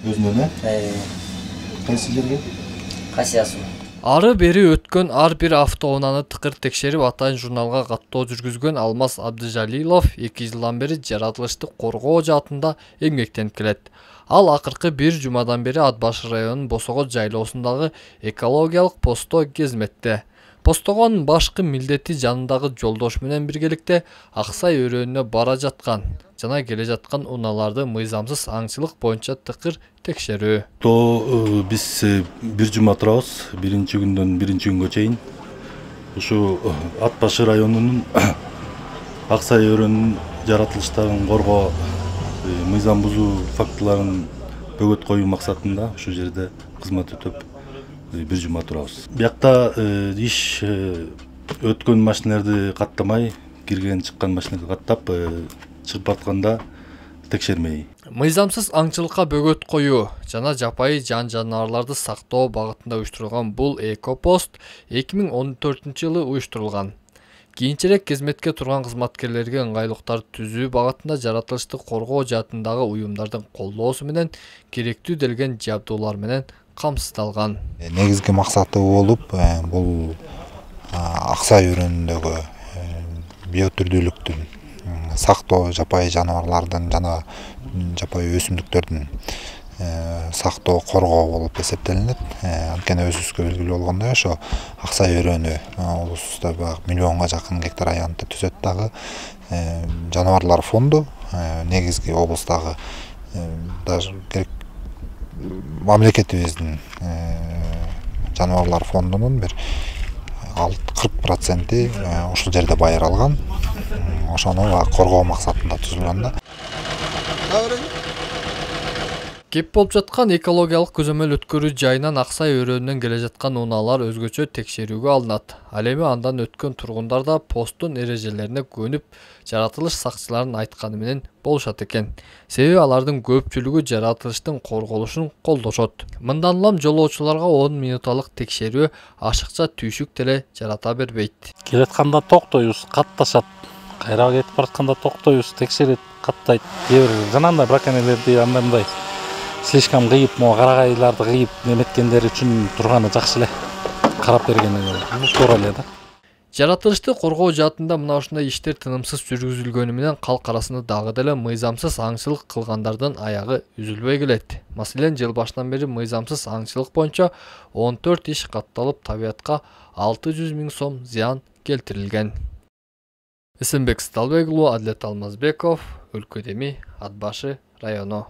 Өзүнөн кайсы жерге? Касия суу. Ары бери өткөн ар бир автоунааны тыкыр текшерип атайын журналга каттоо жүргүзгөн Алмаз Абдыжалилов 2 жылдан бери жаратылышты коргоо жаатында эмгектенип келет. Ал акыркы бир жумадан бери Ат башы районунун Босого жайлоосундагы экологиялык постто кезметте. Постогонун башкы милдети жанындагы жолдош менен биргеликте Аксай өрөөнүнө бара жаткан жана келе жаткан унааларды мыйзамсыз аңчылык боюнча тыкыр текшерүү. Биз бир жума турабыз, биринчи күндөн биринчи күнгө чейин. Ушу Ат башы районунун Аксай өрөөнүнүн жаратылыштарын коргоо, мыйзам бузуу фактыларын бөгөт коюу максатында ушу жерде кызмат өтөп бир жума турабыз. Биякта иш өткөн машиналарды каттамай, кирген чыккан машиналарды каттап, чыгып баратканда текшермей. Мыйзамсыз аңчылыкка бөгөт коюу жана жапайы жан-жаныбарларды сактоо багытында уюштурулган бул экопост 2014-жылы уюштурулган. Кийинчерээк кезметке турган кызматкерлерге ыңгайлыктар түзүү багытында жаратылышты коргоо жаатындагы уюмдардын колдоосу менен керектүү делген жабдуулар менен камсыздалган. Негизги максаты болуп, бул Аксай өрөөнүндөгү биотүрдүүлүктүн сактоо, жапайы жаныбарлардын жана жапайы өсүмдүктөрдүн сактоо, коргоо болуп эсептелинет. Анткени өзүбүзгө белгилүү болгондой, ошо Аксай өрөөнү облустта миллионго жакын гектар аянтты түзөт дагы. Жаныбарлар фонду негизги облустагы даже мамлекетибиздин жаныбарлар фондунун бир 40% ушул жерде байыралган. Ошону коргоо максатында түзүлгөн да. Кеп болуп жаткан экологиялык көзөмөл өткөрүү жайынан Аксай өрөөнүнөн келе жаткан унаалар өзгөчө текшерүүгө алынат. Ал эми андан өткөн тургундар да посттун эрежелерине көнүп, жаратылыш сакчыларынын айтканы менен болушат экен. Себеби алардын көпчүлүгү жаратылыштын корголушун колдошот. Мындан улам жолоочуларга 10 минуталык текшерүү ашыкча түйшүк деле жарата бербейт. Келатканда токтойбуз, катташат. Кайра кетип баратканда токтойбуз, текшерет, каттайт. Кээ бир жанагындай браконьерлерди андай слишком кыйып, карагайларды кыйып неметкендер үчүн турганы жакшы эле. Карап бергени туура эле да. Жаратылышты коргоо жаатында мына ушундай иштер тынымсыз жүргүзүлгөнү менен калк арасында дагы деле мыйзамсыз аңчылык кылгандардын аягы үзүлбөй келет. Маселен, жыл башынан бери мыйзамсыз аңчылык боюнча 14 иш катталып, табиатка 600 000 сом зыян келтирилген. Эсенбек Сталбек уулу, Адилет Алмазбеков, Өлкөдеми, Ат башы району.